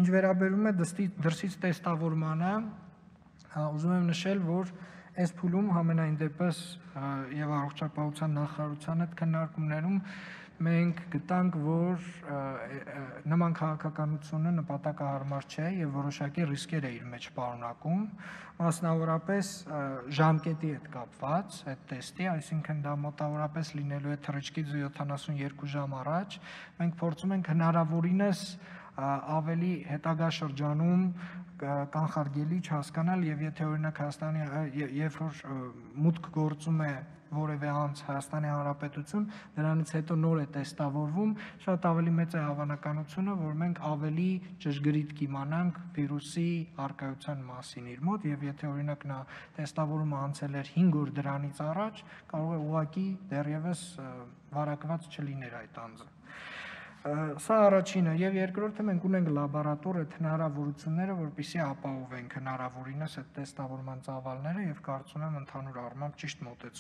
Ինչ վերաբերում է դրսից տեստավորմանը, ուզում եմ նշել, որ այս փուլում համենայն դեպս եւ առողջապահության նախարարության հետ քննարկումներում մենք գտանք, որ նման քաղաքականությունը նպատակահարմար չէ եւ որոշակի ռիսկեր է իր մեջ պարունակում, մասնավորապես ժամկետի հետ կապված այդ տեստի, այսինքն դա մոտավորապես լինելու է թռիչքից 72 ժամ առաջ, մենք փորձում ենք հնարավորինս ավելի հետագա շրջանում կանխարգելիչ հասկանալ եւ եթե օրինակ Հայաստանի երբ որ մուտք գործում է որևէ անձ Հայաստանի Հանրապետություն, դրանից հետո նոր է տեստավորվում, շատ ավելի մեծ է հավանականությունը, որ մենք ավելի ճշգրիտ կիմանանք վիրուսի առկայության մասին իր մոտ եւ եթե օրինակ նա տեստավորումը անցել էր 5 օր դրանից առաջ, կարող է ուղղակի դեռևս վարակված չլիներ այդ անձը։ Սա առաջինը եւ երկրորդը մենք ունենք լաբորատոր այդ հնարավորությունները, որպեսզի ապահովենք հնարավորինս այդ տեստավորման ծավալները եւ կարծում եմ ընդհանուր առմամբ ճիշտ մոտեցում